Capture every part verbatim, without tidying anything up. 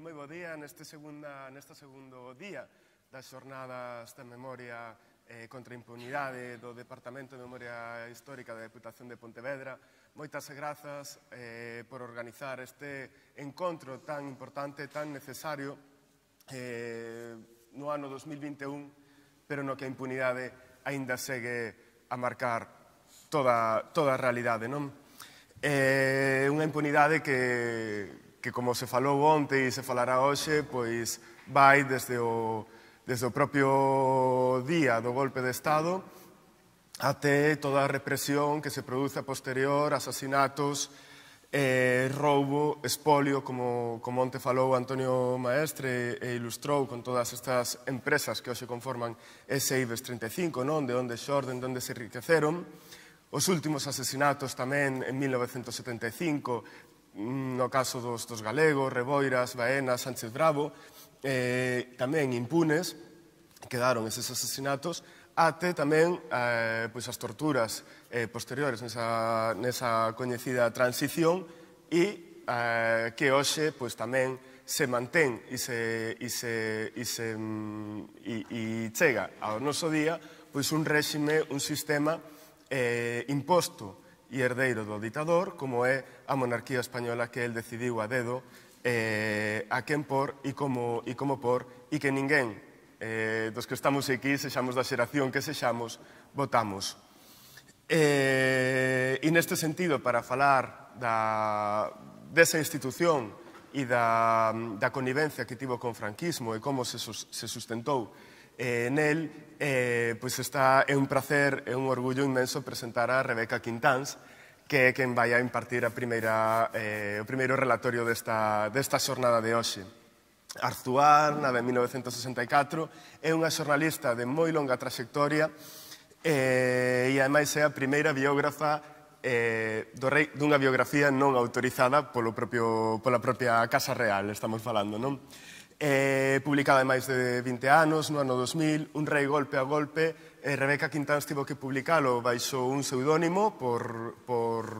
moi bo día neste, segunda, neste segundo día das xornadas de memoria eh, contra a impunidade do Departamento de Memoria Histórica da Deputación de Pontevedra. Moitas grazas eh, por organizar este encontro tan importante, tan necesario eh, no ano dos mil vinte e un, pero no que a impunidade aínda segue a marcar toda, toda a realidade, non? É unha impunidade que, que como se falou onte e se falará hoxe, pois vai desde o, desde o propio día do golpe de Estado até toda a represión que se produce a posterior, asasinatos, eh, roubo, espolio, como, como onte falou Antonio Maestre e ilustrou con todas estas empresas que hoxe conforman ese IBEX treinta e cinco, non? De onde xorden, de onde se enriqueceron. Os últimos asesinatos tamén en mil novecentos setenta e cinco, no caso dos, dos galegos, Reboiras, Baena, Sánchez Bravo, eh, tamén impunes, quedaron eses asesinatos, até tamén eh, pois as torturas eh, posteriores nesa, nesa coñecida transición e eh, que hoxe pois, tamén se mantén e, se, e, se, e, se, e, e chega ao noso día pois, un réxime, un sistema eh, imposto e herdeiro do ditador, como é a monarquía española que el decidiu a dedo eh, a quen por e como, e como por, e que ninguén eh, dos que estamos aquí, sexamos da xeración que sexamos, votamos. Eh, e neste sentido, para falar da, desa institución e da, da connivencia que tivo con franquismo e como se, se sustentou eh, nel, eh, pois está, é un placer, é un orgullo inmenso presentar a Rebeca Quintáns, que é quen vai a impartir a primeira, eh, o primeiro relatorio desta, desta xornada de hoxe. Arzuar, na de mil novecentos sesenta e catro, é unha xornalista de moi longa traxectoria eh, e, ademais, é a primeira biógrafa eh, do rei dunha biografía non autorizada polo propio, pola propia Casa Real, estamos falando, non? Eh, publicada en máis de vinte anos, no ano dos mil, Un rei golpe a golpe. eh, Rebeca Quintáns tivo que publicalo baixo un pseudónimo por, por,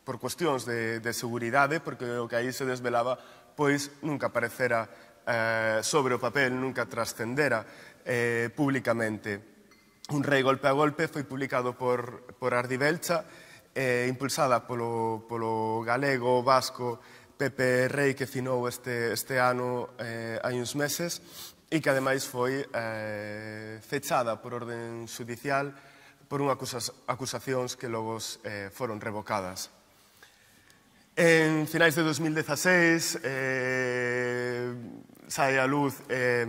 por cuestións de, de seguridade, porque o que aí se desvelaba pois nunca aparecera eh, sobre o papel, nunca trascendera eh, públicamente. Un rei golpe a golpe foi publicado por, por Ardi Belcha, eh, impulsada polo, polo galego vasco Pepe Rei, que finou este, este ano eh, hai uns meses, e que ademais foi eh, fechada por orden judicial por unha acusas, acusacións que logo eh, foron revocadas. En finais de dos mil dezaseis eh, sae a luz eh,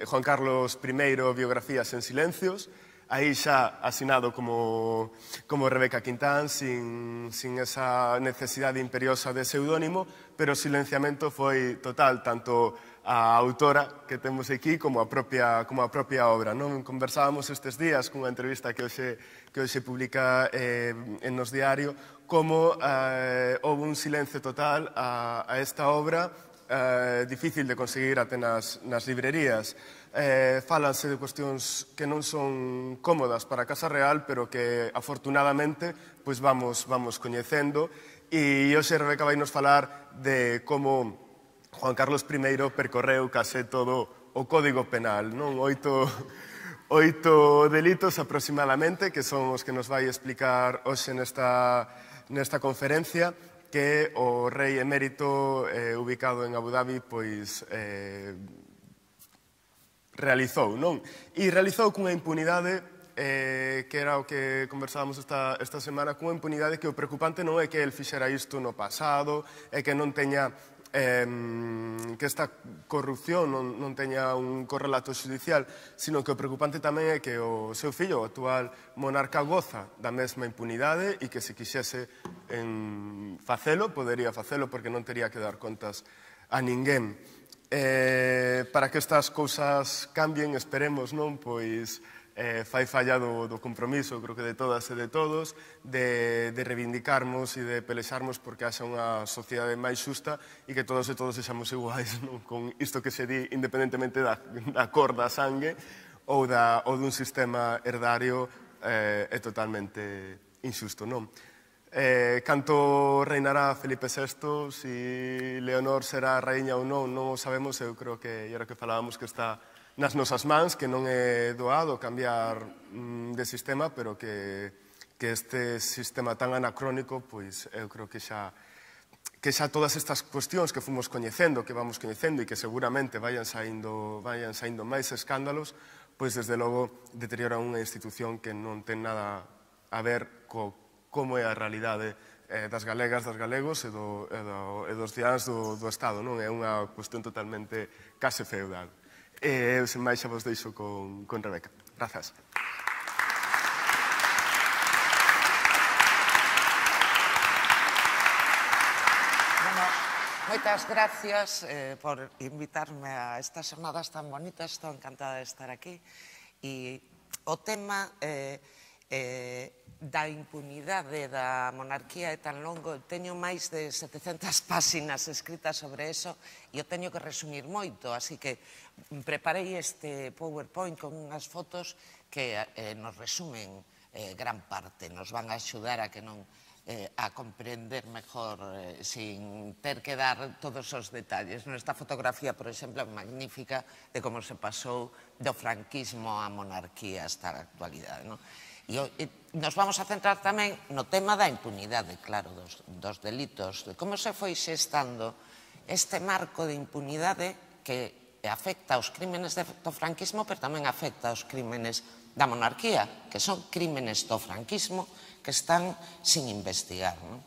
Juan Carlos primeiro, Biografías en silencios, aí xa asinado como, como Rebeca Quintáns, sin, sin esa necesidade imperiosa de pseudónimo, pero o silenciamento foi total, tanto a autora que temos aquí como a propia, como a propia obra. Non? Conversábamos estes días cunha entrevista que hoxe, que hoxe publica eh, en Nos Diario, como eh, houve un silencio total a, a esta obra, eh, difícil de conseguir até nas, nas librerías. Eh, falanse de cuestións que non son cómodas para a Casa Real, pero que afortunadamente pois vamos, vamos coñecendo, e hoxe Rebeca vai nos falar de como Juan Carlos primeiro percorreu case todo o Código Penal, non? Oito, oito delitos aproximadamente, que son os que nos vai explicar hoxe nesta, nesta conferencia, que o rei emérito eh, ubicado en Abu Dhabi pois eh, realizou, non? E realizou cunha impunidade eh, que era o que conversábamos esta, esta semana, cunha impunidade que o preocupante non é que el fixera isto no pasado, é que non teña eh, que esta corrupción non, non teña un correlato judicial, sino que o preocupante tamén é que o seu fillo, o actual monarca, goza da mesma impunidade e que se quixese en facelo, podería facelo porque non tería que dar contas a ninguén. Eh, para que estas cousas cambien, esperemos, non? Pois eh, fai falla do, do compromiso, creo que de todas e de todos, de, de reivindicarmos e de pelexarmos porque haxa unha sociedade máis xusta e que todos e todos sexamos iguais, non? Con isto que se di independentemente da, da cor da sangue ou, da, ou dun sistema herdario eh, é totalmente inxusto, non? Eh, canto reinará Felipe sexto, si Leonor será raíña ou non, non o sabemos. Eu creo que, e era que falábamos, que está nas nosas mans, que non é doado cambiar mm, de sistema, pero que, que este sistema tan anacrónico, pois eu creo que xa que xa todas estas cuestións que fomos coñecendo, que vamos coñecendo e que seguramente vayan saindo, vayan saindo máis escándalos, pois desde logo deterioran unha institución que non ten nada a ver co como é a realidade eh, das galegas, das galegos e, do, e, do, e dos ciáns do, do Estado, non? É unha cuestión totalmente case feudal. E eu, sen máis, xa vos deixo con, con Rebeca. Grazas. Bueno, moitas gracias eh, por invitarme a estas xornadas tan bonitas. Estou encantada de estar aquí. E o tema eh, eh, da impunidade da monarquía é tan longo, teño máis de setecentas páxinas escritas sobre eso e o teño que resumir moito, así que preparei este PowerPoint con unhas fotos que eh, nos resumen eh, gran parte, nos van a axudar a que non eh, a comprender mejor eh, sin ter que dar todos os detalles. Esta fotografía, por exemplo, é magnífica de como se pasou do franquismo á monarquía hasta a actualidade, non? E nos vamos a centrar tamén no tema da impunidade, claro, dos, dos delitos, de como se foi xestando este marco de impunidade que afecta aos crímenes do franquismo, pero tamén afecta aos crímenes da monarquía, que son crímenes do franquismo que están sin investigar. Non?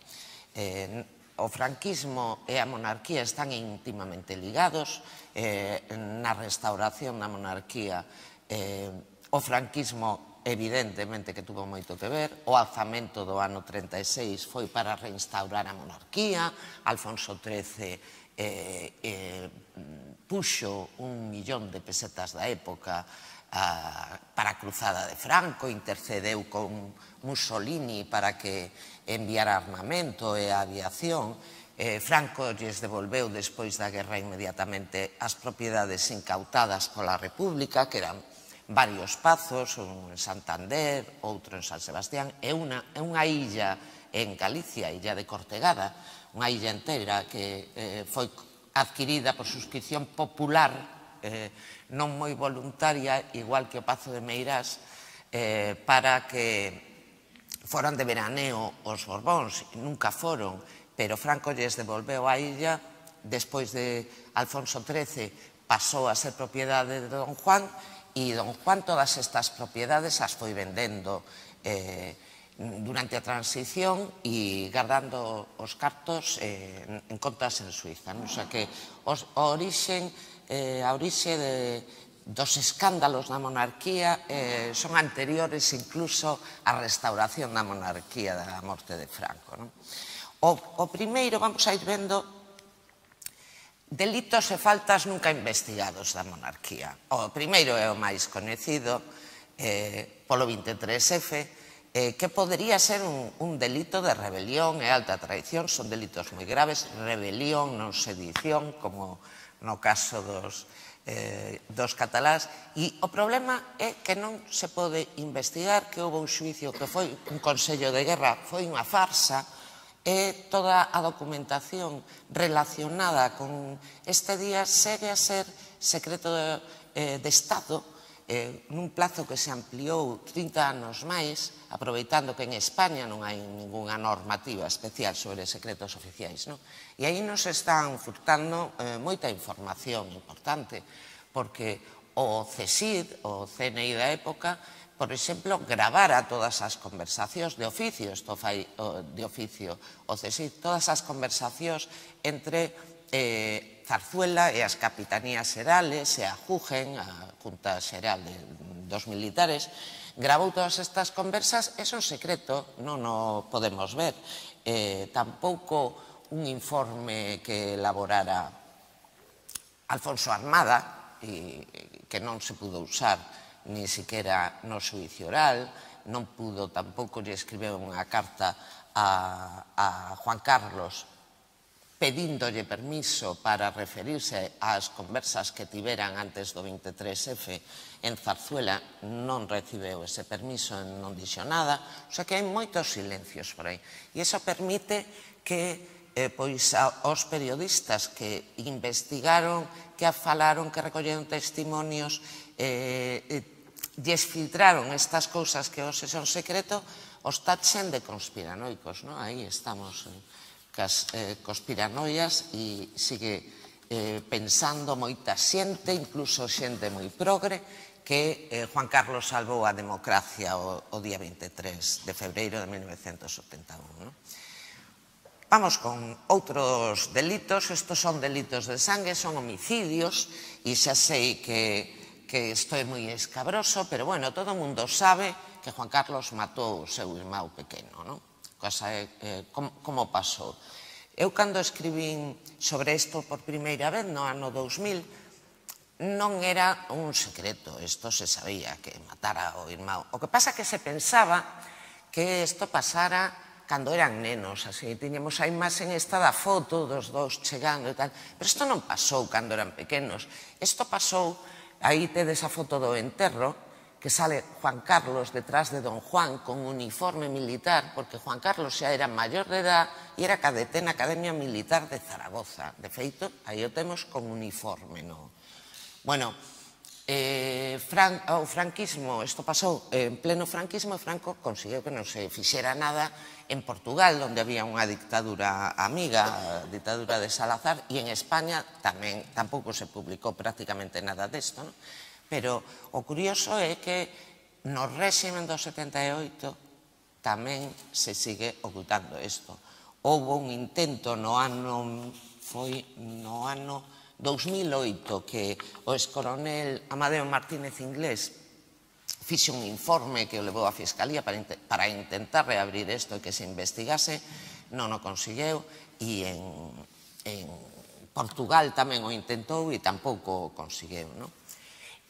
Eh, o franquismo e a monarquía están íntimamente ligados. Eh, na restauración da monarquía, eh, o franquismo evidentemente que tuvo moito que ver. O alzamento do ano treinta e seis foi para reinstaurar a monarquía. Alfonso trece eh, eh, puxo un millón de pesetas da época a, para a cruzada de Franco, intercedeu con Mussolini para que enviara armamento e a aviación. Eh, Franco lles devolveu despois da guerra inmediatamente as propiedades incautadas pola República, que eran varios pazos, un en Santander, outro en San Sebastián, e unha, unha illa en Galicia, a illa de Cortegada, unha illa entera que eh, foi adquirida por suscripción popular, eh, non moi voluntaria, igual que o Pazo de Meirás, eh, para que foran de veraneo os Borbóns. Nunca foron, pero Franco lles devolveu a illa. Despois de Alfonso trece pasou a ser propiedade de Don Juan, e Don Juan todas estas propiedades as foi vendendo eh, durante a transición e guardando os cartos eh, en contas en Suiza. Non? O sea que os, a orixe, eh, a orixe de, dos escándalos da monarquía eh, son anteriores incluso á restauración da monarquía da morte de Franco. Non? O, o primeiro, vamos a ir vendo delitos e faltas nunca investigados da monarquía. O primeiro é o máis coñecido, eh, polo vinte e tres F, eh, que podería ser un, un delito de rebelión e alta traición. Son delitos moi graves, rebelión, non sedición, como no caso dos, eh, dos catalás. E o problema é que non se pode investigar, que houve un xuicio que foi un consello de guerra, foi unha farsa, e toda a documentación relacionada con este día segue a ser secreto de, eh, de Estado eh, nun plazo que se ampliou trinta anos máis, aproveitando que en España non hai ninguna normativa especial sobre secretos oficiais. Non? E aí nos están furtando eh, moita información importante, porque o CSID, o C N I da época, por exemplo, gravara todas as conversacións de oficio, isto fai de oficio o CSID, todas as conversacións entre eh, Zarzuela e as capitanías xerales e a Jugen, a Junta Xeral de, dos militares, gravou todas estas conversas, é un secreto, non o podemos ver. Eh, tampouco un informe que elaborara Alfonso Armada, e que non se pudo usar ni siquiera no xuicio oral, non pudo, tampouco lle escribeu unha carta a, a Juan Carlos, pedíndolle permiso para referirse ás conversas que tiveran antes do veintitrés efe en Zarzuela, non recibeu ese permiso, non dixo nada, o sea que hai moitos silencios por aí. E iso permite que eh, pois, a, os periodistas que investigaron, que falaron, que recolleron testimonios, eh, eh, lles filtraron estas cousas que hoxe son secreto, os tachen de conspiranoicos, non? Aí estamos eh, cas eh, conspiranoias e sigue eh, pensando moita xente, incluso xente moi progre, que eh, Juan Carlos salvou a democracia o, o día veintitrés de febreiro de mil novecentos setenta e un. ¿No? Vamos con outros delitos. Estos son delitos de sangue, son homicidios, e xa sei que, que isto é moi escabroso, pero bueno, todo o mundo sabe que Juan Carlos matou o seu irmão pequeno, non? Cosa é, eh, como, como pasou. Eu, cando escribín sobre isto por primeira vez, no ano dous mil, non era un secreto, isto se sabía, que matara o irmão. O que pasa é que se pensaba que isto pasara cando eran nenos, así, tiñamos a imaxe esta da foto dos dous chegando e tal, pero isto non pasou cando eran pequenos, isto pasou, aí tedes a foto do enterro, que sale Juan Carlos detrás de don Juan con uniforme militar, porque Juan Carlos xa era maior de edad e era cadete na Academia Militar de Zaragoza. De feito, aí o temos con uniforme, no? Bueno, eh, Fran, o franquismo, isto pasou en pleno franquismo, e Franco conseguiu que non se fixera nada en Portugal, onde había unha dictadura amiga, a dictadura de Salazar, e en España tamén tampouco se publicou prácticamente nada desto, non? Pero o curioso é que no réximen do setenta e oito tamén se sigue ocultando isto. Houve un intento no ano, foi no ano dous mil oito, que o excoronel Amadeo Martínez Inglés fixe un informe que o levou a Fiscalía para, para intentar reabrir isto e que se investigase, non o conseguiu, e en, en Portugal tamén o intentou e tampouco o conseguiu, non?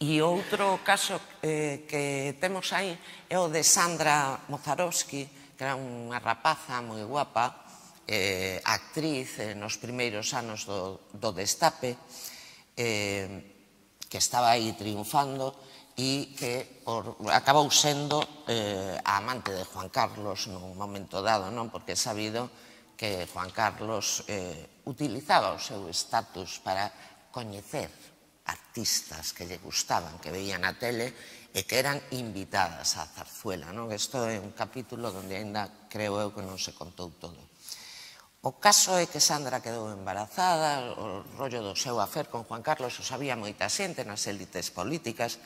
E outro caso eh, que temos aí é o de Sandra Mozarovsky, que era unha rapaza moi guapa, eh, actriz eh, nos primeiros anos do, do Destape, eh, que estaba aí triunfando e que por, acabou sendo eh, a amante de Juan Carlos nun momento dado, non? Porque é sabido que Juan Carlos eh, utilizaba o seu estatus para coñecer artistas que lle gustaban, que veían na tele e que eran invitadas á Zarzuela, non? Isto é un capítulo onde ainda creo eu que non se contou todo. O caso é que Sandra quedou embarazada, o rollo do seu afer con Juan Carlos o sabía moita xente nas élites políticas,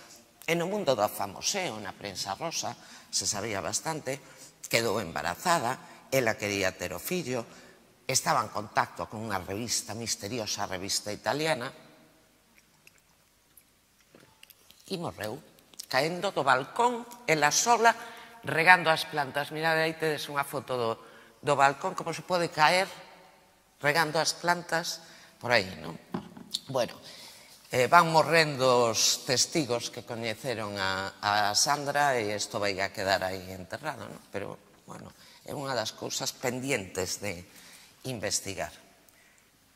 e no mundo do famoseo, na prensa rosa, se sabía bastante, quedou embarazada, ela quería ter o fillo, estaba en contacto con unha revista misteriosa, revista italiana, e morreu, caendo do balcón, ela sola, regando as plantas. Mirad, aí tedes unha foto do, do balcón, como se pode caer regando as plantas por aí, non? Bueno, eh, van morrendo os testigos que coñeceron a, a Sandra e isto vai a quedar aí enterrado, non? Pero, bueno, é unha das cousas pendientes de investigar.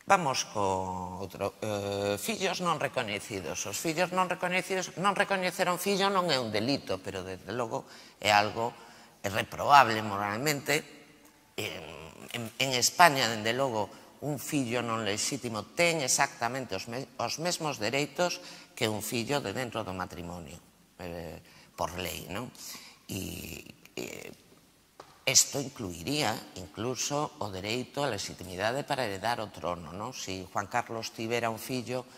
Vamos co outro. Eh, fillos non recoñecidos. Os fillos non recoñecidos, non recoñecer un fillo non é un delito, pero, desde logo, é algo reprobable moralmente. En, en, en España, dende logo, un fillo non lexítimo ten exactamente os, me, os mesmos dereitos que un fillo de dentro do matrimonio, eh, por lei, non? E... Eh, Isto incluiría incluso o dereito a legitimidade para heredar o trono, non? Se Juan Carlos tivera un fillo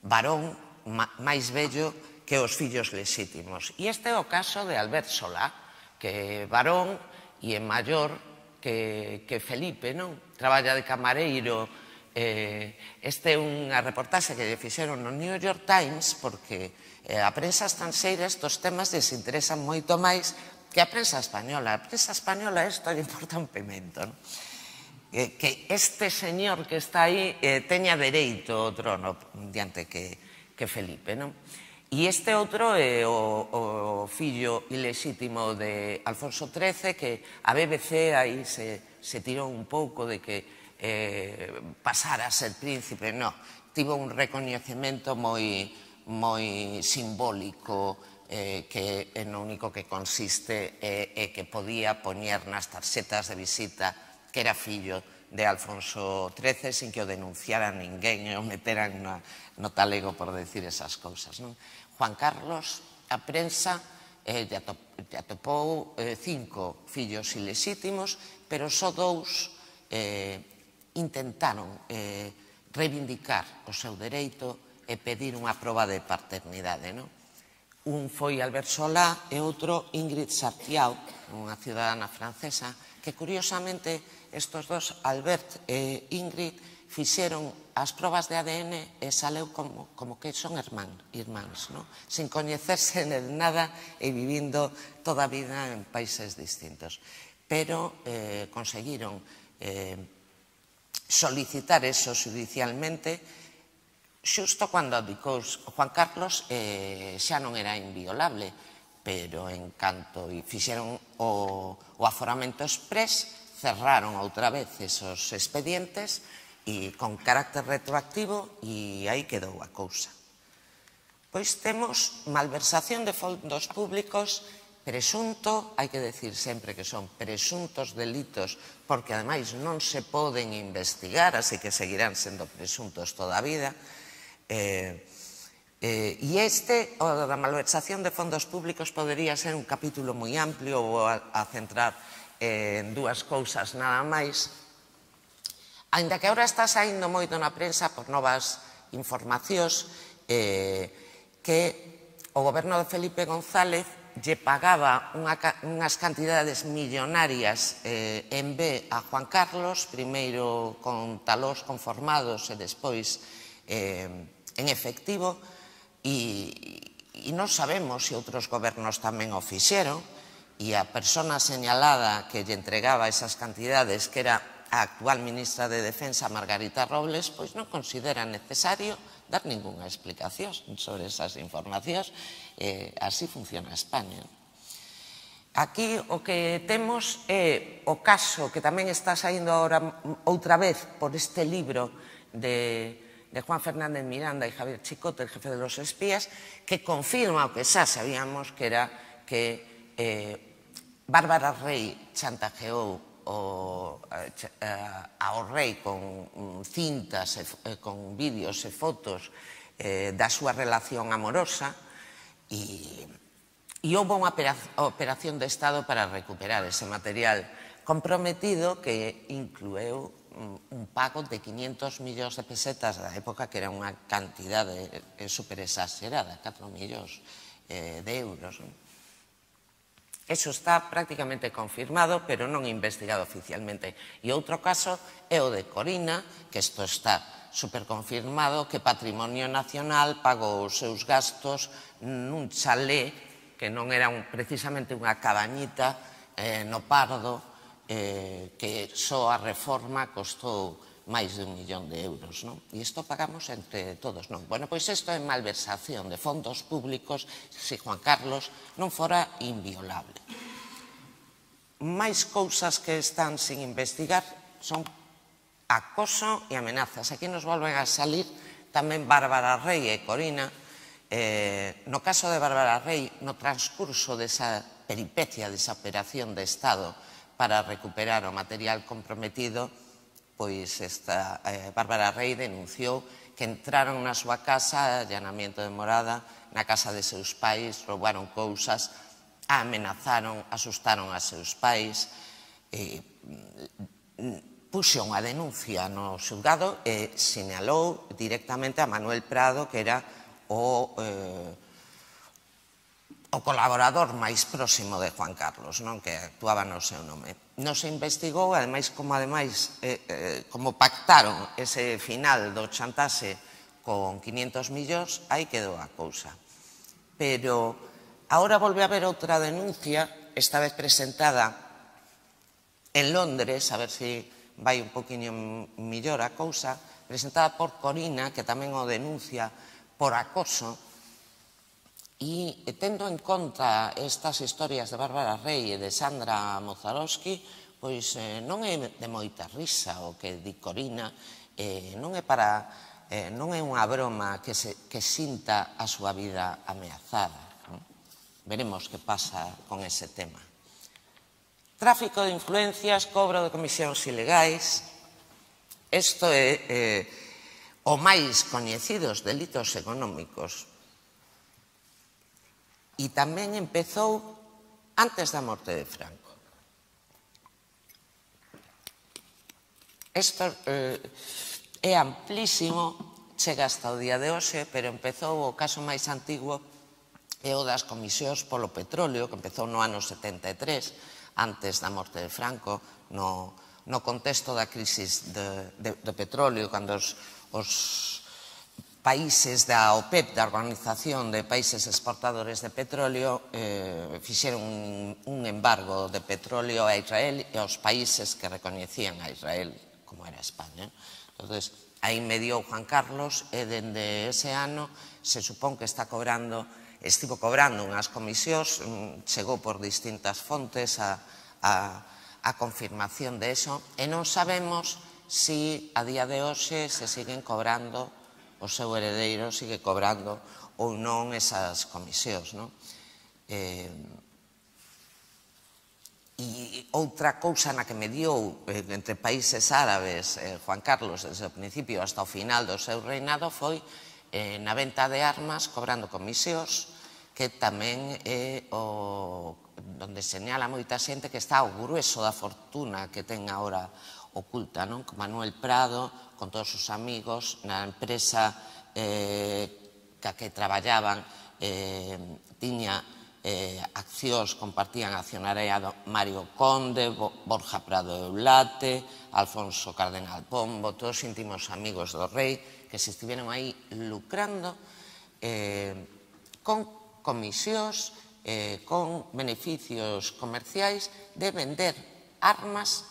varón máis vello que os fillos lexítimos. E este é o caso de Albert Solá, que é varón e é maior que, que Felipe, non? Traballa de camareiro. Eh, este é unha reportaxe que lle fixeron no New York Times, porque eh, a prensa estranxeira estos temas les interesan moito máis que a prensa española. A prensa española isto lle importa un pimento, non? Que, que este señor que está aí eh, teña dereito ao trono diante que, que Felipe, non? E este outro é o, o fillo ilexítimo de Alfonso trece, que a B B C aí se, se tirou un pouco de que pasara a ser príncipe, non. Tivo un recoñecemento moi simbólico que no único que consiste é que podía poñer nas tarxetas de visita que era fillo de Alfonso trece sin que o denunciara ninguén e o meteran no talego por decir esas cousas. Juan Carlos, a prensa, lle atopou cinco fillos ilexítimos, pero só dous intentaron reivindicar o seu dereito e pedir unha proba de paternidade. Un foi Albert Solá e outro Ingrid Sartiau, unha ciudadana francesa, que curiosamente estos dos, Albert e Ingrid, fixeron as probas de A D N e saleu como que son irmáns, sin coñecerse de nada e vivindo toda a vida en países distintos. Pero conseguiron solicitar eso judicialmente xusto cando abdicou Juan Carlos xa non era inviolable, pero en canto fixeron o aforamento exprés, cerraron outra vez esos expedientes e con carácter retroactivo e aí quedou a cousa. Pois temos malversación de fondos públicos, presunto, hai que decir sempre que son presuntos delitos, porque ademais non se poden investigar, así que seguirán sendo presuntos toda a vida. E este, o da malversación de fondos públicos, podería ser un capítulo moi amplio ou a centrar en dúas cousas nada máis. Ainda que agora está saindo moito na prensa por novas informacións que o goberno de Felipe González lle pagaba unhas cantidades millonarias en B a Juan Carlos, primeiro con talós conformados e despois en efectivo, e non sabemos se outros gobernos tamén o fixeron, e a persona señalada que lle entregaba esas cantidades, que era a actual ministra de Defensa, Margarita Robles, pois non considera necesario dar ningunha explicación sobre esas informacións. Así funciona España. Aquí o que temos é o caso que tamén está saindo agora outra vez por este libro de Juan Fernández Miranda e Javier Chicote, el jefe de los espías, que confirma o que xa sabíamos, que era que Bárbara Rey chantajeou ao rei con cintas, con vídeos e fotos da súa relación amorosa, e houve unha operación de Estado para recuperar ese material comprometido que inclueu un pago de quinientos millóns de pesetas da época, que era unha cantidade super exagerada, catro millóns de euros. Eso está prácticamente confirmado, pero non investigado oficialmente. E outro caso é o de Corina, que isto está superconfirmado, que Patrimonio Nacional pagou os seus gastos nun chalé que non era precisamente unha cabañita no Pardo, que só a reforma costou máis de un millón de euros, non? E isto pagamos entre todos, non? Bueno, pois isto é malversación de fondos públicos se Juan Carlos non fora inviolable. Máis cousas que están sin investigar son acoso e amenazas. Aquí nos volven a salir tamén Bárbara Rey e Corina. No caso de Bárbara Rey, no transcurso desa peripecia, desa operación de Estado para recuperar o material comprometido, pois esta Bárbara Rey denunciou que entraron na súa casa, allanamiento de morada, na casa de seus pais, roubaron cousas, amenazaron, asustaron a seus pais, puxo unha denuncia no xulgado e sinalou directamente a Manuel Prado, que era o colaborador máis próximo de Juan Carlos, que actuaba no seu nome. Non se investigou, ademais, como ademais como pactaron ese final do chantaxe con quinientos millóns, aí quedou a cousa. Pero agora volve a haber outra denuncia, esta vez presentada en Londres, a ver se vai un poquinho millor a cousa, presentada por Corina, que tamén o denuncia por acoso. E tendo en conta estas historias de Bárbara Rey e de Sandra Mozarowski, pois non é de moita risa o que di Corina, non é para, non é unha broma que sinta a súa vida ameazada. Veremos que pasa con ese tema. Tráfico de influencias, cobro de comisións ilegais. Isto é o máis coñecidos delitos económicos. E tamén empezou antes da morte de Franco. Isto é amplísimo, chega hasta o día de hoxe, pero empezou o caso máis antigo é o das comisións polo petróleo, que empezou no ano setenta e tres, antes da morte de Franco, no contexto da crisis do petróleo, cando os países da OPEP, da Organización de Países Exportadores de Petróleo, fixeron un embargo de petróleo a Israel e aos países que recoñecían a Israel, como era España. Entón, aí mediou Juan Carlos e dende ese ano se supón que está cobrando, estivo cobrando unhas comisións, chegou por distintas fontes a confirmación de eso, e non sabemos se a día de hoxe se siguen cobrando, o seu heredeiro sigue cobrando ou non esas comisións. E outra cousa na que mediou entre países árabes Juan Carlos desde o principio hasta o final do seu reinado foi na venta de armas cobrando comisións, que tamén é onde señala moita xente que está o grueso da fortuna que ten agora oculta, con Manuel Prado, con todos os amigos, na empresa que a que traballaban, tiña accións, compartían accionariado Mario Conde, Borja Prado Eulate, Alfonso Cardenal Pombo, todos íntimos amigos do rei, que se estiveron aí lucrando con comisións, con beneficios comerciais de vender armas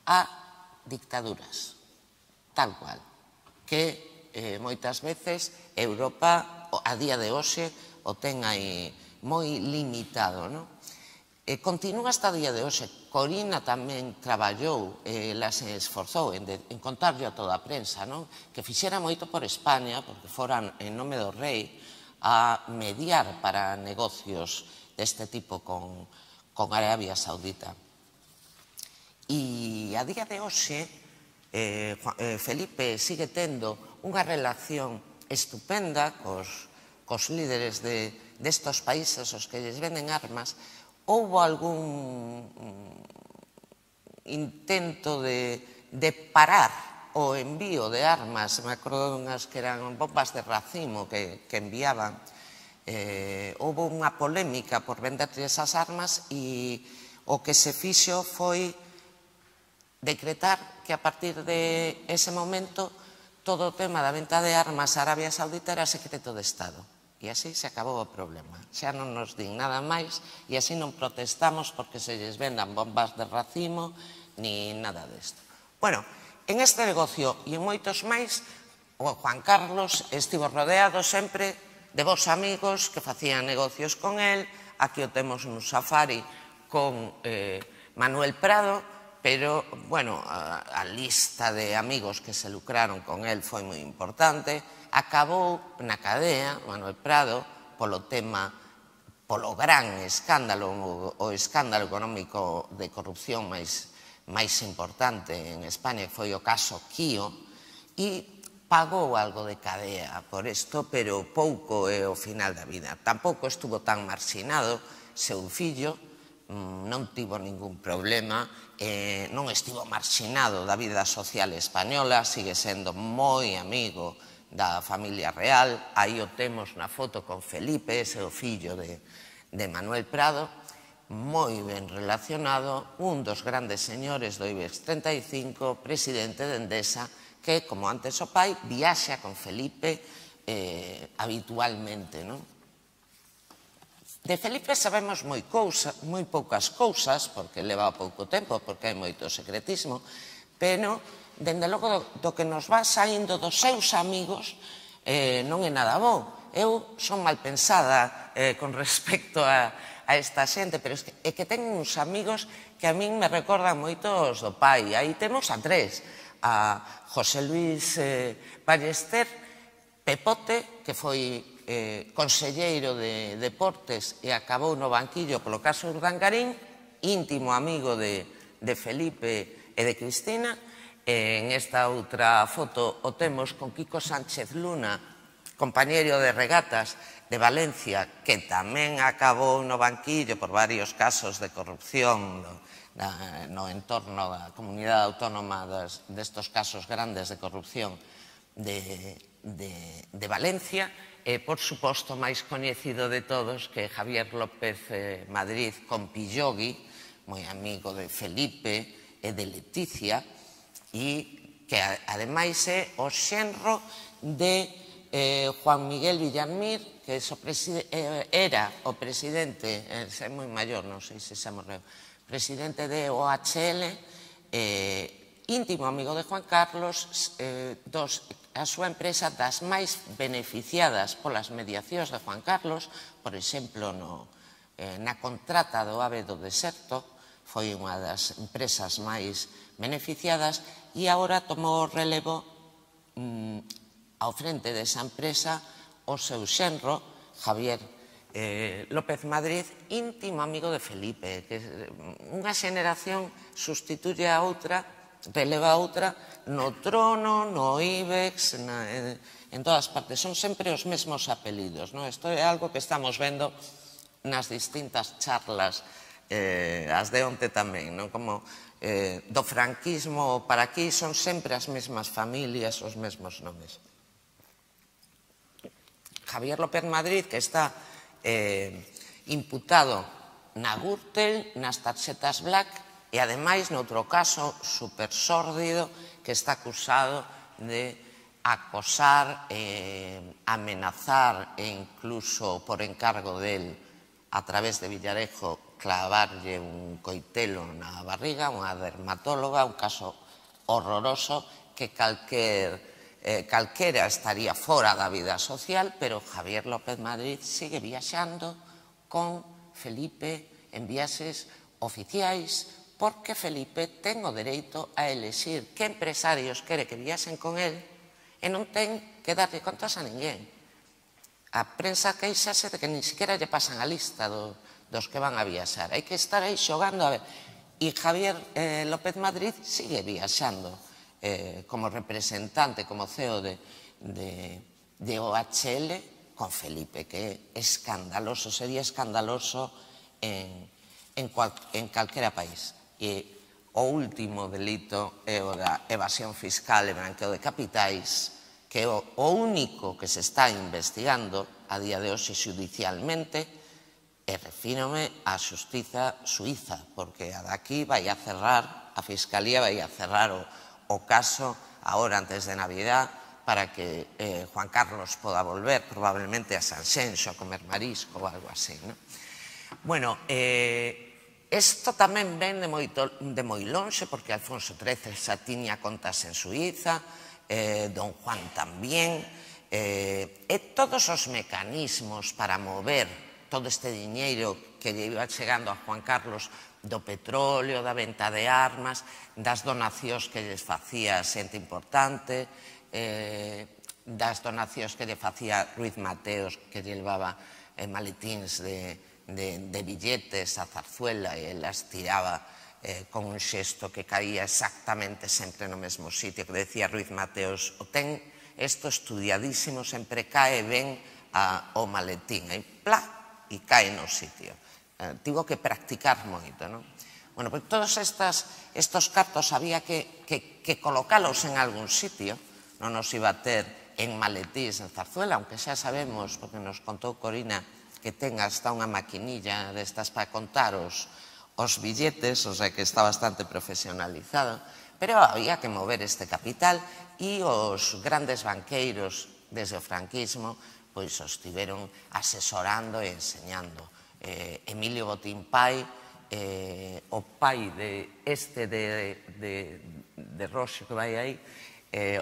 a dictaduras, tal cual, que moitas veces Europa a día de hoxe o ten aí moi limitado. Continúa hasta o día de hoxe. Corina tamén traballou, ela se esforzou en contarlle a toda a prensa, que fixera moito por España, porque foran en nome do rei a mediar para negocios deste tipo con Arabia Saudita. E a día de hoxe, Felipe sigue tendo unha relación estupenda cos líderes destos países aos que lles venden armas. Houbo algún intento de parar o envío de armas, me acordo dunhas que eran bombas de racimo que enviaban. Houbo unha polémica por venderlle esas armas e o que se fixo foi decretar que a partir de ese momento todo o tema da venta de armas a Arabia Saudita era secreto de Estado. E así se acabou o problema. Xa non nos din nada máis e así non protestamos porque se lles vendan bombas de racimo ni nada desto. Bueno, en este negocio e en moitos máis, o Juan Carlos estivo rodeado sempre de vos amigos que facían negocios con el. Aquí o temos un safari con Manuel Prado, pero, bueno, a lista de amigos que se lucraron con el foi moi importante. Acabou na cadea, Manuel Prado, polo tema, polo gran escándalo, o escándalo económico de corrupción máis importante en España, que foi o caso Quío, e pagou algo de cadea por isto, pero pouco é o final da vida. Tampouco estuvo tan marxinado, seu fillo non tivo ningún problema, non estivo marxinado da vida social española, sigue sendo moi amigo da familia real. Aí o temos na foto con Felipe, ese o fillo de Manuel Prado, moi ben relacionado, un dos grandes señores do IBEX treinta e cinco, presidente de Endesa, que, como antes o pai, viaxa con Felipe habitualmente. De Felipe sabemos moi poucas cousas, porque leva pouco tempo, porque hai moito secretismo, pero, dende logo, do que nos va saindo dos seus amigos non é nada bo. Eu son mal pensada con respecto a a esta xente, pero é que ten uns amigos que a min me recordan moito os do pai. Aí temos a tres, a José Luis Ballester, Pepote, que foi conselleiro de Deportes e acabou no banquillo polo caso Urdangarín, íntimo amigo de Felipe e de Cristina. En esta outra foto o temos con Quico Sánchez Luna, compañeiro de regatas de Valencia, que tamén acabou no banquillo por varios casos de corrupción no entorno da comunidade autónoma destos casos grandes de corrupción de Valencia. E, por suposto, máis coñecido de todos, que Javier López Madrid con Pillogui, moi amigo de Felipe e de Leticia, e que, ademais, é o xenro de Juan Miguel Villarmir, que era o presidente, é moi maior, non sei se xa morreu, presidente de O H L, íntimo amigo de Juan Carlos, a súa empresa das máis beneficiadas polas mediacións de Juan Carlos, por exemplo, na contrata do AVE do Deserto, foi unha das empresas máis beneficiadas, e agora tomou o relevo ao frente desa empresa o seu xenro, Javier López Madrid, íntimo amigo de Felipe, que unha xeneración sustituye a outra, releva a outra, no trono, no IBEX, en todas partes. Son sempre os mesmos apelidos. Isto é algo que estamos vendo nas distintas charlas, as de onte tamén, como do franquismo para aquí son sempre as mesmas familias, os mesmos nomes. Javier López Madrid, que está imputado na Gürtel, nas tarxetas Black, e, ademais, noutro caso super sórdido, que está acusado de acosar, amenazar e incluso por encargo del, a través de Villarejo, clavarlle un coitelo na barriga, unha dermatóloga, un caso horroroso que calquera estaría fora da vida social, pero Javier López Madrid sigue viaxando con Felipe en viaxes oficiais, porque Felipe ten o dereito a elexir que empresarios quere que viaxen con el e non ten que darlle contas a ninguén. A prensa queixase de que nin siquiera lle pasan a lista dos que van a viaxar. Hai que estar aí xogando a ver. E Javier López Madrid sigue viaxando como representante, como C E O de O H L con Felipe, que é escandaloso, sería escandaloso en calquera país. E o último delito é o da evasión fiscal e branqueo de capitais, que é o único que se está investigando a día de hoxe xudicialmente, e refírome á xustiza suiza, porque a daqui vai a cerrar, a Fiscalía vai a cerrar o caso agora antes de Navidad para que Juan Carlos poda volver probablemente a Sanxenxo a comer marisco ou algo así. Bueno, isto tamén ven de moi lonxe, porque Alfonso trece xa tiña contas en Suiza, Don Juan tamén, e todos os mecanismos para mover todo este diñeiro que lle iba chegando a Juan Carlos do petróleo, da venta de armas, das donacións que lles facía xente importante, das donacións que lle facía Ruiz Mateos, que lle levaba maletíns de de billetes a Zarzuela e las tiraba con un xesto que caía exactamente sempre no mesmo sitio, que decía Ruiz Mateos, o ten isto estudiadísimo, sempre cae ben ao maletín, e plá, e cae no sitio. Tivo que practicar moito, non? Bueno, pois todos estos cartos había que colocalos en algún sitio, non nos iba a ter en maletíns en Zarzuela, aunque xa sabemos, porque nos contou Corina, que ten hasta unha maquinilla destas para contar os billetes, o sea que está bastante profesionalizado, pero había que mover este capital e os grandes banqueiros desde o franquismo pois os tiveron asesorando e enseñando. Emilio Botín Pai, o pai este de Roxo que vai aí,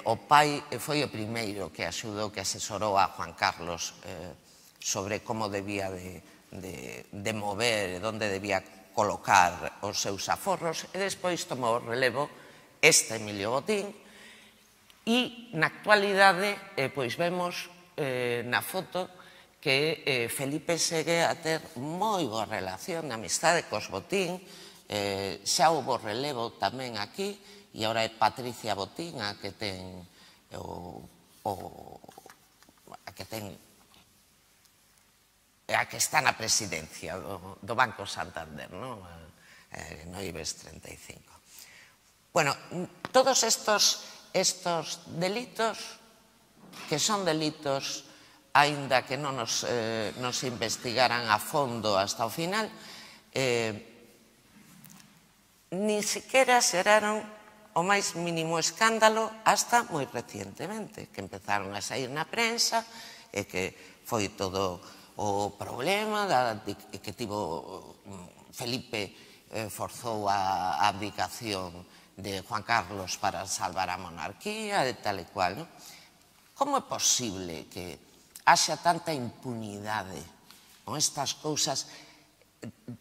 o pai foi o primeiro que axudou, que asesorou a Juan Carlos sobre como debía de de mover, onde debía colocar os seus aforros, e despois tomou relevo este Emilio Botín, e na actualidade pois vemos na foto que Felipe segue a ter moi boa relación de amistade cos Botín, xa houve relevo tamén aquí, e agora é Patricia Botín a que ten a que ten a que está na presidencia do Banco Santander, no IBEX treinta e cinco. Bueno, todos estos estos delitos, que son delitos, aínda que non nos investigaran a fondo hasta o final, nin siquiera xeraron o máis mínimo escándalo hasta moi recientemente, que empezaron a sair na prensa e que foi todo o problema que tivo Felipe forzou a abdicación de Juan Carlos para salvar a monarquía e tal e cual. Como é posible que haxa tanta impunidade con estas cousas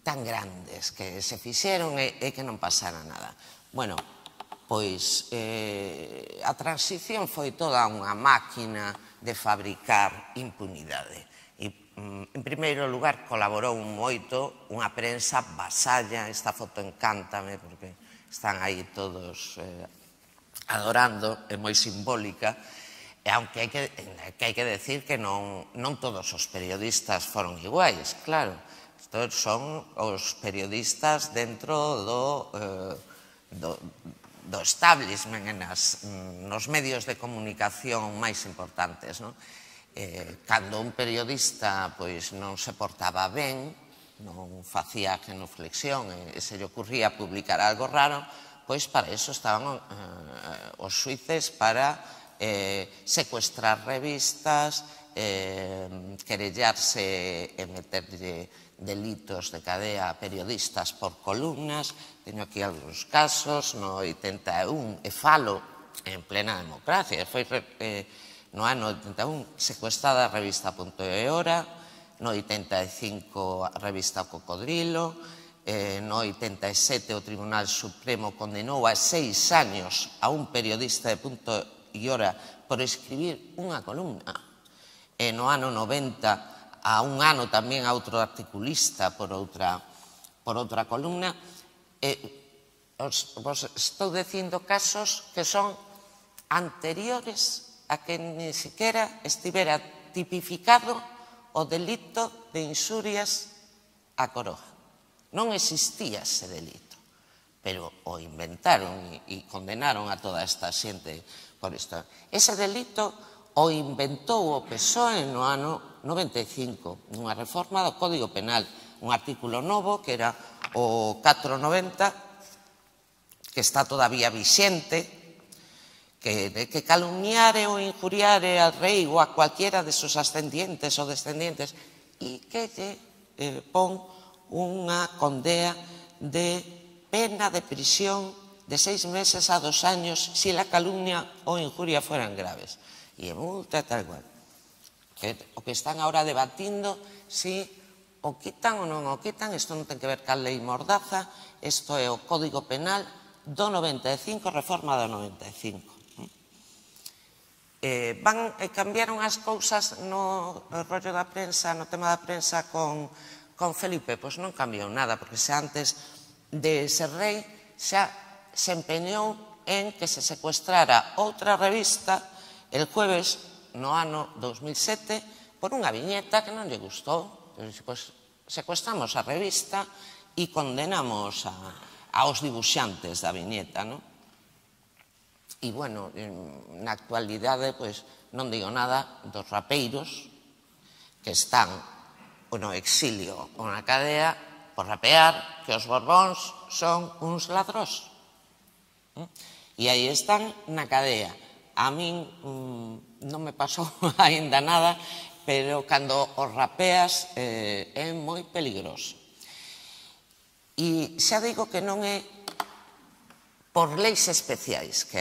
tan grandes que se fixeron e que non pasara nada? Bueno, pois a transición foi toda unha máquina de fabricar impunidade. En primeiro lugar, colaborou moito unha prensa vasalla. Esta foto encántame porque están aí todos adorando, é moi simbólica, e aunque hai que decir que non todos os periodistas foron iguais, claro. Estos son os periodistas dentro do establishment, nos medios de comunicación máis importantes, non? Cando un periodista non se portaba ben, non facía genuflexión e se lle ocurría publicar algo raro, pois para iso estaban os xuíces, para secuestrar revistas, querellarse e meterlle delitos de cadea a periodistas por columnas. Teño aquí algúns casos, no oitenta e un, e falo en plena democracia, foi no ano oitenta e un secuestrada a revista Punto e Hora, no oitenta e cinco a revista Cocodrilo, no oitenta e sete o Tribunal Supremo condenou a seis años a un periodista de Punto e Hora por escribir unha columna, e no ano noventa a un ano tamén a outro articulista por outra columna. Vos estou dicindo casos que son anteriores a que ni siquiera estivera tipificado o delito de inxurias á coroa. Non existía ese delito, pero o inventaron e condenaron a toda esta xente por isto. Ese delito o inventou o P S O E no ano noventa e cinco, nunha reforma do Código Penal, un artículo novo que era o catrocentos e noventa, que está todavía vixente, que calumniare ou injuriare al rei ou a cualquiera de sus ascendientes ou descendientes, e que lle pon unha condea de pena de prisión de seis meses a dos años si la calumnia ou injuria fueran graves. E multa tal cual. O que están ahora debatindo si o quitan ou non o quitan, isto non ten que ver ca lei Mordaza, isto é o Código Penal do noventa e cinco, reforma do noventa e cinco. Cambiaron as cousas no rollo da prensa, no tema da prensa con Felipe? Pois non cambiou nada, porque xa antes de ser rei xa se empeñou en que se secuestrara outra revista el jueves no ano dos mil sete por unha viñeta que non lle gustou. Secuestramos a revista e condenamos aos dibuixantes da viñeta, non? E, bueno, na actualidade, pois, non digo nada dos rapeiros que están no exilio ou na cadea por rapear que os Borbóns son uns ladrós. E aí están na cadea. A min non me pasou aínda nada, pero cando os rapeas é moi peligroso. E xa digo que non é por leis especiais que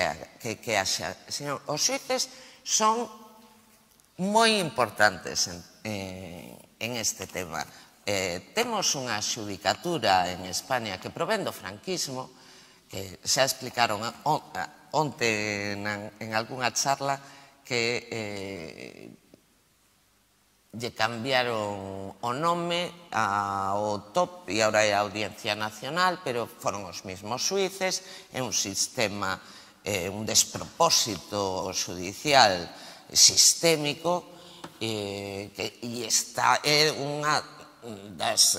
haxa. Os xuíces son moi importantes en este tema, temos unha xudicatura en España que provén do franquismo, que xa explicaron onte en algunha charla que lle cambiaron o nome ao T O P e agora é a Audiencia Nacional, pero foron os mesmos xuíces, é un sistema, un despropósito judicial sistémico e esta é unha das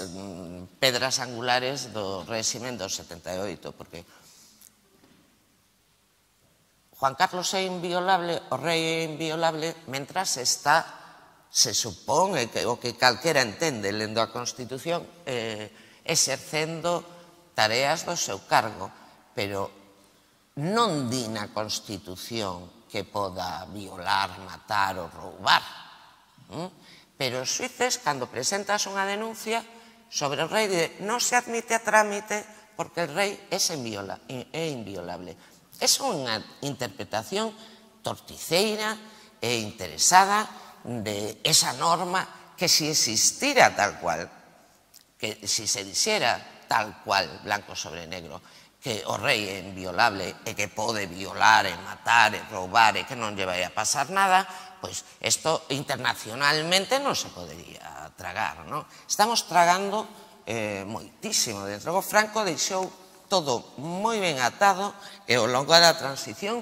pedras angulares do réximen do setenta e oito, porque Juan Carlos é inviolable, o rei é inviolable, mentras está, se supón, o que calquera entende lendo a Constitución, exercendo tareas do seu cargo, pero non di na Constitución que poda violar, matar ou roubar. Pero os xuíces, cando presentas unha denuncia sobre o rei, non se admite a trámite porque o rei é inviolable. É unha interpretación torticeira e interesada de esa norma que si existira tal cual, que si se dixera tal cual, blanco sobre negro, que o rei é inviolable e que pode violar e matar e roubar e que non lle vai a pasar nada, pois isto internacionalmente non se podería tragar, non? Estamos tragando moitísimo. Desde logo, Franco deixou todo moi ben atado e ao longo da transición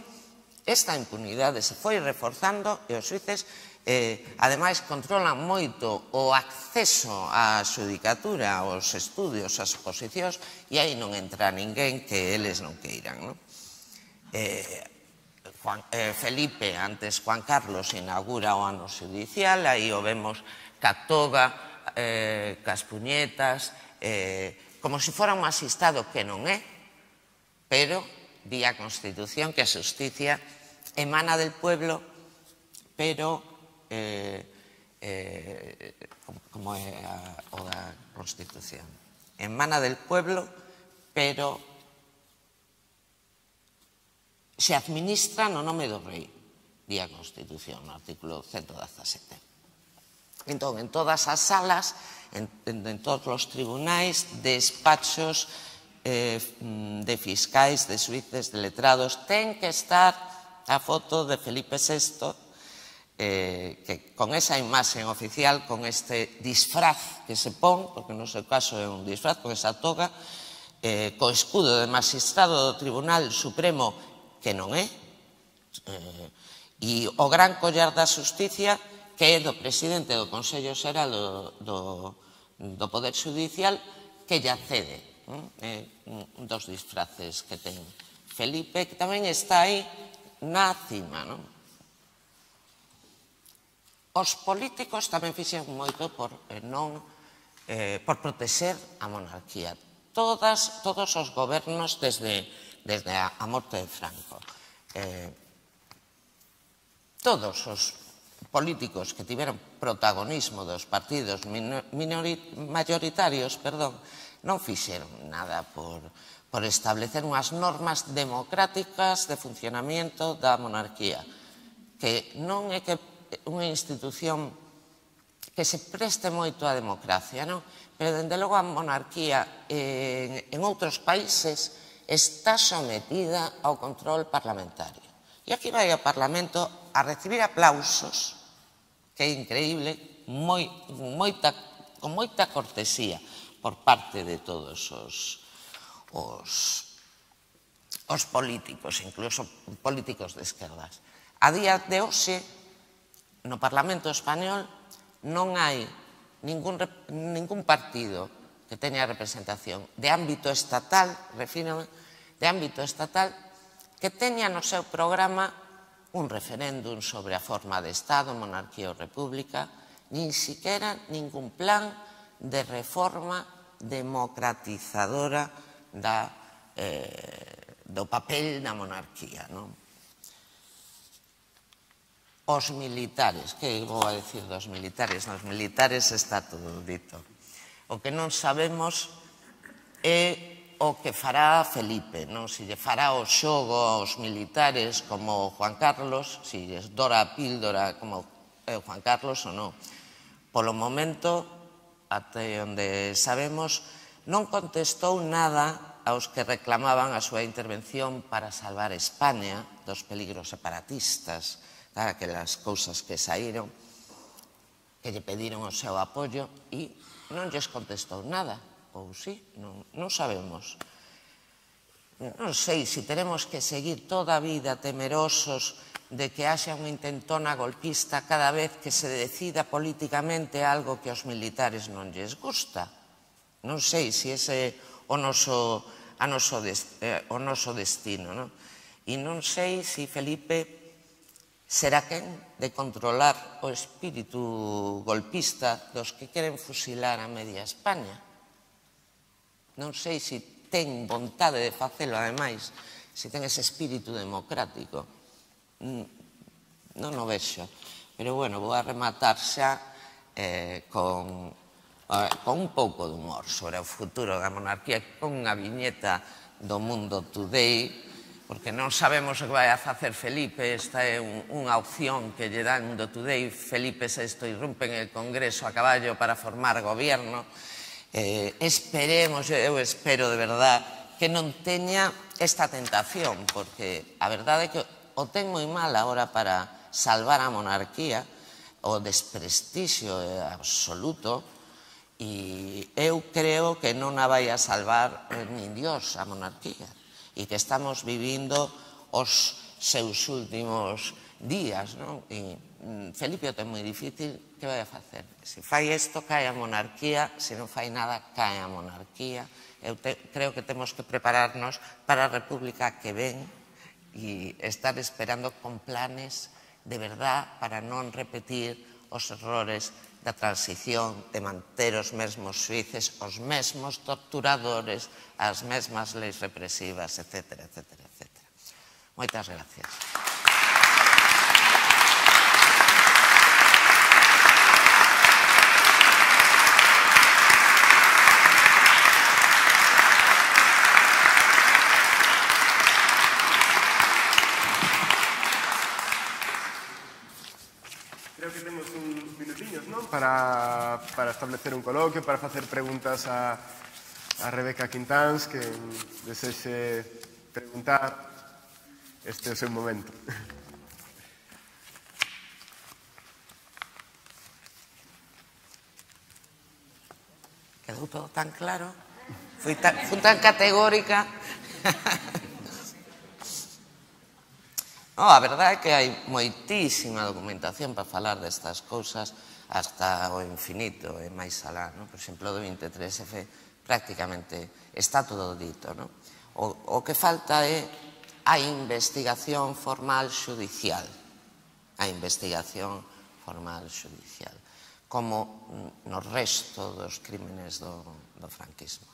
esta impunidade se foi reforzando e os xuíces ademais controlan moito o acceso á xudicatura, aos estudios, ás oposicións, e aí non entra ninguén que eles non queiran. Felipe, antes Juan Carlos, inaugura o ano xudicial, aí o vemos ca toga, cas puñetas, como se fora un asistado que non é, pero di a Constitución que a xusticia emana del pueblo, pero como é a Constitución, emana del pueblo, pero se administra no nome do rei, di a Constitución, no artículo ciento dezasete. Entón, en todas as salas, en todos os tribunais, despachos de fiscais, de xuíces, de letrados, ten que estar a foto de Felipe sexto, que con esa imaxe oficial, con este disfraz que se pon, porque no seu caso é un disfraz, con esa toga, co escudo de magistrado do Tribunal Supremo, que non é, e o gran collar da xusticia, que é do presidente do Consello Xeral do Poder Judicial, que lle accede. É un dos disfraces que ten Felipe, que tamén está aí na cima, non? Os políticos tamén fixen moito por protexer a monarquía. Todos os gobernos desde a morte de Franco. Todos os políticos que tiveron protagonismo dos partidos mayoritarios, perdón, non fixeron nada por establecer unhas normas democráticas de funcionamento da monarquía, que non é que unha institución que se preste moito á democracia, non? Pero, dende logo, a monarquía en outros países está sometida ao control parlamentario. E aquí vai ao Parlamento a recibir aplausos, que é increíble, con moita cortesía por parte de todos os políticos, incluso políticos de esquerdas. A día de hoxe, no Parlamento Español non hai ningún partido que teña representación de ámbito estatal, refírome, de ámbito estatal, que teña no seu programa un referéndum sobre a forma de Estado, monarquía ou república, nin siquiera ningún plan de reforma democratizadora do papel da monarquía, non? Os militares, que vou a dicir dos militares? Nos militares está todo dito. O que non sabemos é o que fará Felipe, non? Se lle fará o xogo aos militares como Juan Carlos, se lles dora a píldora como Juan Carlos ou non. Polo momento, até onde sabemos, non contestou nada aos que reclamaban a súa intervención para salvar España dos peligros separatistas, aquelas cousas que saíron, que lle pediron o seu apoio e non lles contestou nada, ou sí, non, non sabemos. Non sei se teremos que seguir toda a vida temerosos de que haxa unha intentona golpista cada vez que se decida políticamente algo que aos militares non lles gusta. Non sei se ese é o noso, a noso, eh, o noso destino. Non? E non sei se Felipe será quen de controlar o espírito golpista dos que queren fusilar a media España. Non sei se ten vontade de facelo, ademais, se ten ese espírito democrático. Non o vexo. Pero, bueno, vou a rematar xa con un pouco de humor sobre o futuro da monarquía, con unha viñeta do Mundo Today, porque non sabemos o que vai a facer Felipe. Esta é unha opción que lle dan Mundo Today. Felipe sexto irrumpe en el Congreso a caballo para formar gobierno. Esperemos, eu espero de verdad, que non teña esta tentación, porque a verdade é que o ten moi mal agora para salvar a monarquía, o desprestixio absoluto, e eu creo que non a vai a salvar nin Dios a monarquía, e que estamos vivindo os seus últimos días, non? E Felipe o ten moi difícil, que vai a facer? Se fai isto, cae a monarquía, se non fai nada, cae a monarquía. Eu creo que temos que prepararnos para a república que ven e estar esperando con planes de verdad para non repetir os errores da transición, de manter os mesmos xuíces, os mesmos torturadores, as mesmas leis represivas, etcétera, etcétera, etcétera. Moitas gracias. Para, para establecer un coloquio, para facer preguntas a, a Rebeca Quintáns, que desexe preguntar, este é o seu momento. Quedou todo tan claro, fui tan, fui tan categórica. No, a verdade é que hai moitísima documentación para falar destas cousas hasta o infinito e máis alá. Por exemplo, do veintitrés F prácticamente está todo dito. O que falta é a investigación formal xudicial. A investigación formal xudicial. Como no resto dos crímenes do franquismo.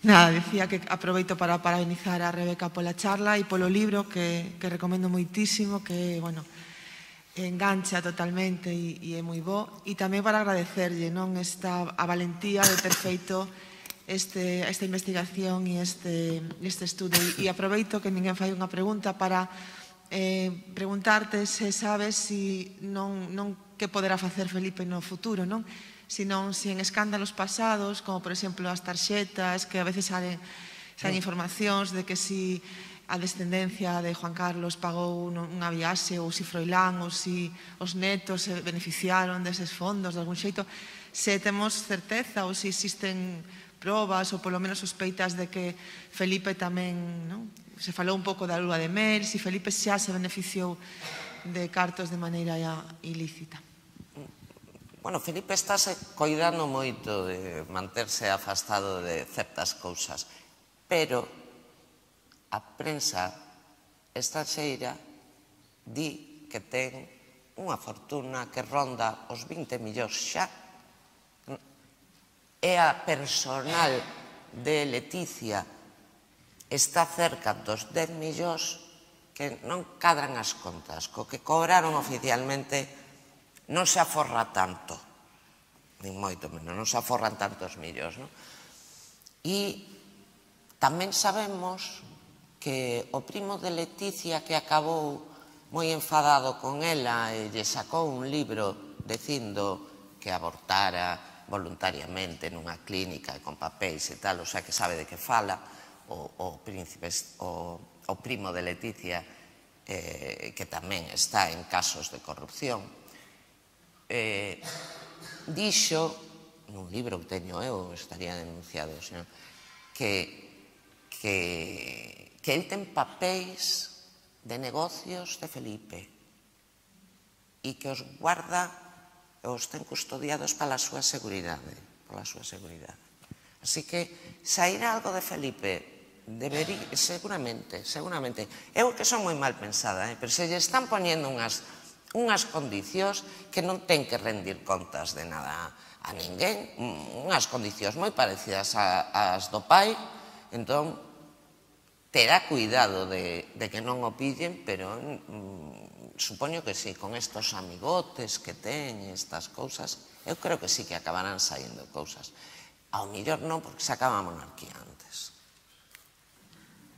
Nada, decía que aproveito para parabenizar a Rebeca pola charla e polo libro que, que recomendo moitísimo, que, bueno, engancha totalmente e, e é moi bo. E tamén para agradecerlle, non, esta, a valentía de ter feito este, esta investigación e este, este estudo. E, e aproveito que ninguén fai unha pregunta para eh, preguntarte se sabes si non, non que poderá facer Felipe no futuro, non? Senón se en escándalos pasados, como por exemplo as tarxetas, que a veces salen informacións de que si a descendencia de Juan Carlos pagou unha viaxe, ou si Froilán, ou si os netos se beneficiaron deses fondos de algún xeito, se temos certeza ou se existen probas ou polo menos sospeitas de que Felipe tamén, non? Se falou un pouco da lúa de mel, se Felipe xa se beneficiou de cartos de maneira ilícita. Bueno, Felipe estáse coidando moito de manterse afastado de certas cousas, pero a prensa estranxeira di que ten unha fortuna que ronda os vinte millóns xa. E a personal de Leticia está cerca dos dez millóns, que non cadran as contas. Co que cobraron oficialmente non se aforra tanto. nin moito menos, non se aforran tantos millos, non? E tamén sabemos que o primo de Leticia, que acabou moi enfadado con ela e lle sacou un libro dicindo que abortara voluntariamente nunha clínica con papéis e tal, o sea que sabe de que fala, o príncipe, o primo de Leticia, que tamén está en casos de corrupción, dixo, nun libro que teño eu, estaría denunciado, que que el ten papéis de negocios de Felipe e que os guarda, os ten custodiados para a súa seguridade, para a súa seguridade. Así que sairá algo de Felipe, debería, seguramente, seguramente. Eu que son moi mal pensada, pero se lle están poñendo unhas unhas condicións que non ten que rendir contas de nada a ninguén, unhas condicións moi parecidas ás do pai, entón terá cuidado de que non o pillen, pero supoño que sí, con estos amigotes que ten, estas cousas, eu creo que sí que acabarán saindo cousas. Ao millor non, porque se acaba a monarquía antes.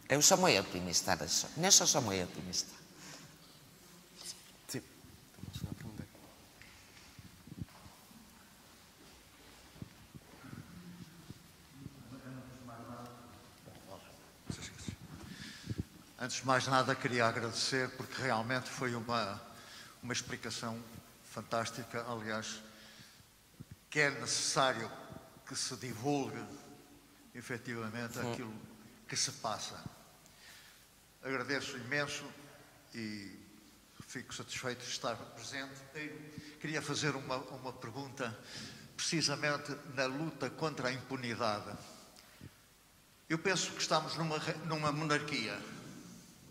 Eu sou moi optimista neso, neso sou moi optimista. Sí, temos unha pregunta. Antes de mais nada, queria agradecer, porque realmente foi uma, uma explicação fantástica. Aliás, que é necessário que se divulgue, efetivamente, aquilo que se passa. Agradeço imenso e fico satisfeito de estar presente. Queria fazer uma, uma pergunta, precisamente na luta contra a impunidade. Eu penso que estamos numa, numa monarquia.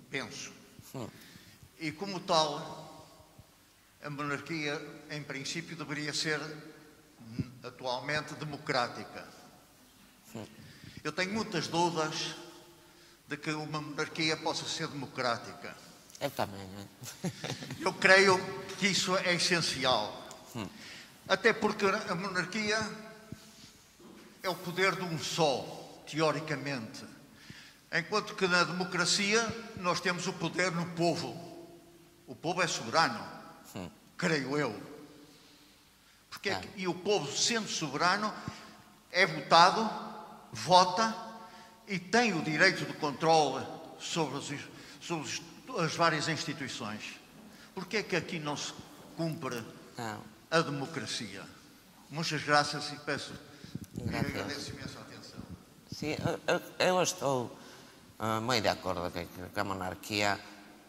Penso. E como tal, a monarquia, em princípio, deveria ser atualmente democrática. Eu tenho muitas dúvidas de que uma monarquia possa ser democrática. Eu também. Eu creio que isso é essencial. Até porque a monarquia é o poder de um só, teoricamente. Enquanto que na democracia nós temos o poder no povo. O povo é soberano, Sim. creio eu. Porque é que, e o povo, sendo soberano, é votado, vota e tem o direito de controle sobre, os, sobre as várias instituições. Porque é que aqui não se cumpre não. a democracia? Muitas graças e peço e agradeço imenso a atenção. Sim, eu, eu estou Uh, moi de acordo que, que a monarquía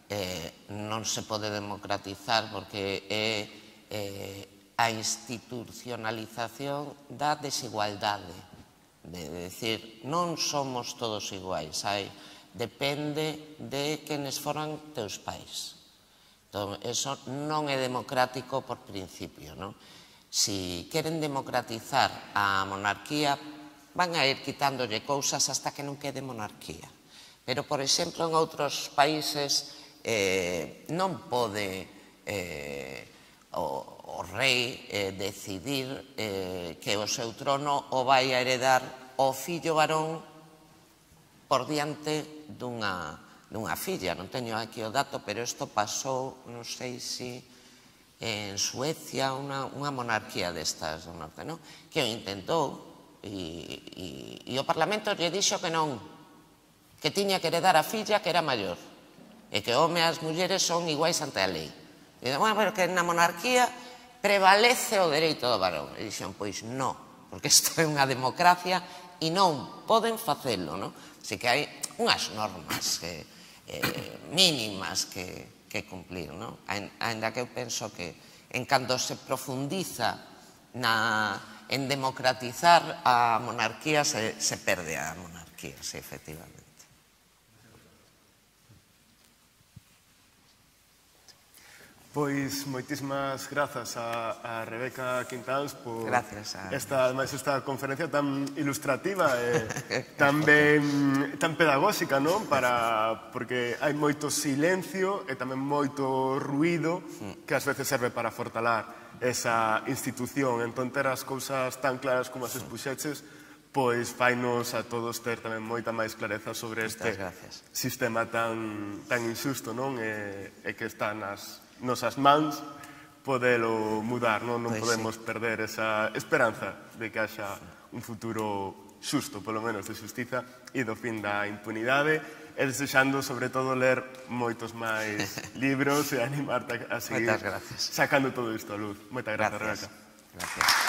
eh, non se pode democratizar porque é eh, a institucionalización da desigualdade, de, de decir, non somos todos iguais, hai, depende de quenes foran teus pais. Entón, eso non é democrático por principio, non? Si queren democratizar a monarquía, van a ir quitándolle cousas hasta que non quede monarquía. Pero, por exemplo, en outros países eh, non pode eh, o, o rei eh, decidir eh, que o seu trono o vai a heredar o fillo varón por diante dunha, dunha filla. Non teño aquí o dato, pero isto pasou, non sei se en Suecia, unha, unha monarquía destas do norte, non? Que o intentou e, e, e o Parlamento lle dixo que non, que tiña que heredar a filla que era maior e que o home e as mulleres son iguais ante a lei. E dixen, bueno, pero que na monarquía prevalece o dereito do varón. E dixen, pois non, porque isto é unha democracia e non poden facelo, non? Así que hai unhas normas que, eh, mínimas que, que cumplir, non? Ainda que eu penso que en cando se profundiza na, en democratizar a monarquía se, se perde a monarquía, sí, efectivamente. Pois moitísimas grazas a, a Rebeca Quintáns por a... esta, ademais, esta conferencia tan ilustrativa e tan, ben, tan pedagóxica, non? Para, porque hai moito silencio e tamén moito ruído que ás veces serve para fortalar esa institución. Entón, ter as cousas tan claras como as expuxeches, pois fainos a todos ter tamén moita máis clareza sobre este sistema tan injusto, non? E que está nas nosas mans podelo mudar, non podemos perder esa esperanza de que haxa un futuro xusto, polo menos de xustiza e do fin da impunidade, e desexando, sobre todo, ler moitos máis libros e animarte a seguir sacando todo isto a luz. Moitas grazas, Rebeca. Gracias.